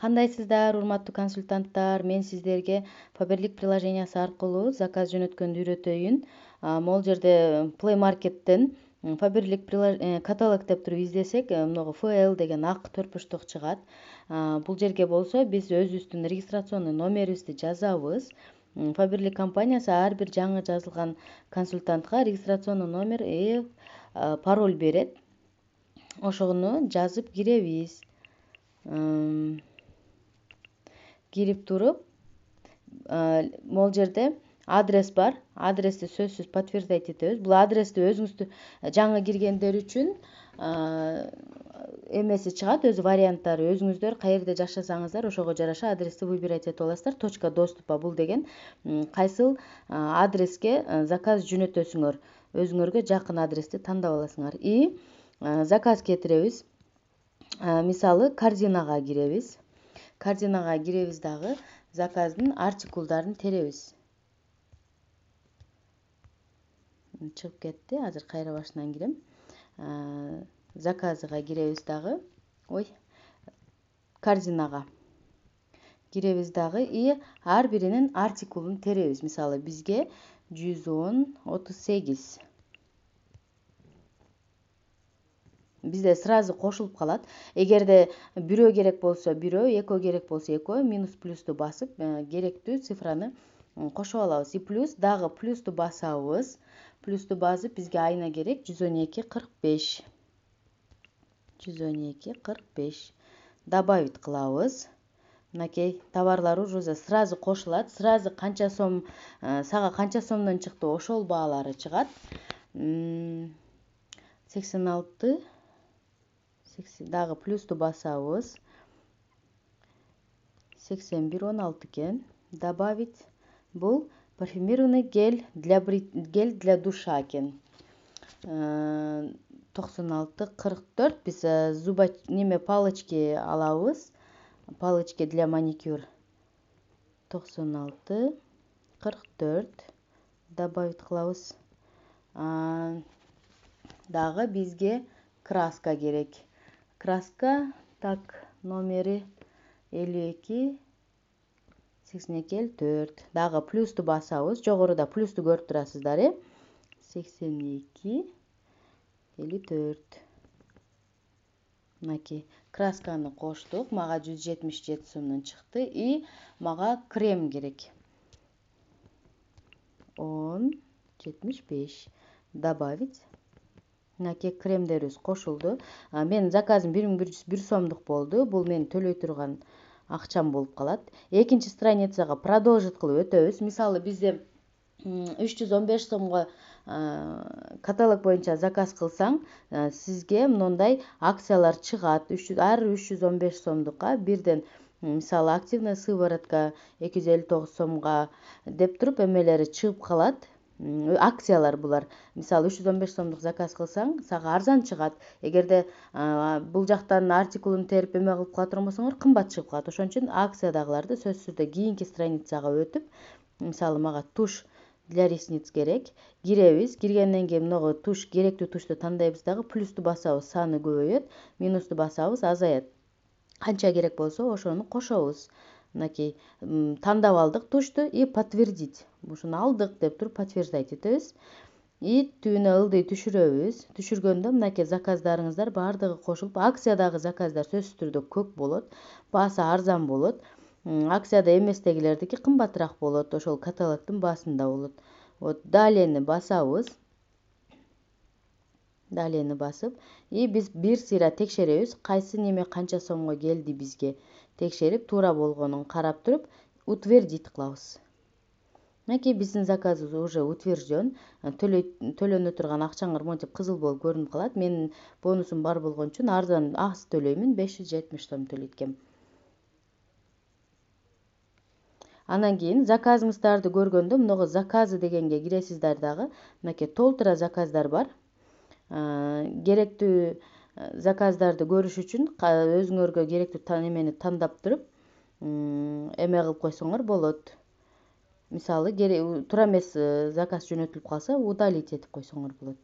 Кандайсыздар, урматтуу консультанттар? Мен сиздерге Faberlic приложениясы аркылуу заказ жөнөткөндү үйрөтөйүн. Могул жерде Play Market'тен Faberlic каталог деп туруп издесек, могу FL деген ак төртбуштук чыгат. Бул жерге болсо биз өзүбүздүн регистрационный номерибизди жазабыз. Faberlic компаниясы ар бир жаңы жазылган консультантка регистрационный номер пароль берет. Ошону жазып киребиз. Кирип туруп, могул жерде адрес бар. Адрести сөзсүз подтверждать этебиз. Бул адрести өзүңүздү жаңы киргендер үчүн эмеси чыгат, өзү варианттары. Өзүңүздөр каерде жашасаңыздар, ошого жараша адрести выбирать этип аласыздар. Точка доступа бул деген кайсыл адреске заказ жөнөтөсүңөр, өзүңөргө жакын адрести тандап аласыңар. И заказ кетиребиз. Мисалы, корзинага киребиз. Корзинага киребиз дагы заказдын артикулдарын теребиз. Чыгып кетти. Азыр кайра башынан кирем. Заказыга киребиз дагы. Корзинага киребиз дагы и ар биринин артикулун теребиз. Мисалы, бизге 110-38. Бизде сразу кошулуп калат. Эгерде бирөө керек болсо бирөө, экөө керек болсо экөө, минус плюсту басып, керектүү цифраны кошуп алабыз. И плюс дагы плюсту басабыз. Плюсту басып бизге айына керек 112-45. 112-45. Добавить кылабыз. Мынакей товарлар уже сразу кошулат. Сразу канча сом, сага канча сомдон чыкты, ошол баалары чыгат. 86. Дагы плюсту басабыз. 81-16 экен. Добавить. Бул парфюмированный гель для душа экен. 96-44. Биз палочки алабыз. Палочки для маникюр. 96-44. Добавить кылабыз. Дагы бизге краска керек. Краска, так, номери 52-82-4. Дагы плюсту басабыз. Жогоруда плюсту көрүп турасыздар, 82-54. Мынакей красканы коштук. Мага 177 сомдон чыкты. И мага крем керек. 10-75. Добавить. Мынакей кремдерибиз кошулду. Менин заказым 1101 сомдук болду. Бул мен төлөй турган акчам болуп калат. Экинчи страницага продолжить кылып өтөбүз. Мисалы, бизде 315 сомго каталог боюнча заказ кылсаң, сизге мындай акциялар чыгат. Ар 315 сомдукка бирден, мисалы, активная сыворотка 259 сомго деп туруп эмелери чыгып калат. Акциялар булар. Мисалы, 315 сомдук заказ кылсаң, сага арзан чыгат. Эгерде бул жактан артикулун терип эме кылып кала турбосоңор, кымбат чыгып калат. Ошон үчүн акциядагыларды сөзсүз түрдө кийинки страницага өтүп, мисалы, мага туш для ресниц керек. Киребиз. Киргенден кийин могу туш, керектүү тушту тандайбыз дагы, плюсту басабыз, саны көбөйөт, минусту басабыз, азаят. Канча керек болсо ошону кошобуз. Мынакей тандап алдык тушту и подтвердить. Ушуну алдык деп туруп подтверждать этебиз. И түбүнө ылдый түшүрөбүз. Түшүргөндө мынакей заказдарыңыздар баардыгы кошулуп, акциядагы заказдар сөзсүз түрдө көп болот, баасы арзан болот. Акцияда эместегилердики кымбатыраак болот, ошол каталогдун баасында болот. Далени басабыз. Далени басып, и биз бир сыйра текшеребиз, кайсы неме канча сомго келди бизге. Текшерип, туура болгонун карап туруп, утвердить кылабыз. Мынакей биздин заказыбыз уже утвержден. Төлөнө турган акчаңар монтип кызыл болуп көрүнүп калат. Менин бонусум бар болгон үчүн арзан аз төлөймүн, 570 сом төлөйт экенмин. Анан кийин заказыңыздарды көргөндө мынагы заказы дегенге киресиздер дагы. Мынакей толтура заказдар бар. Керектүү заказдарды көрүш үчүн өзүңөргө керектүү немени тандап туруп, эме кылып койсоңор болот. Мисалы, туура эмес заказ жөнөтүлүп калса, удалить этип койсоңор болот.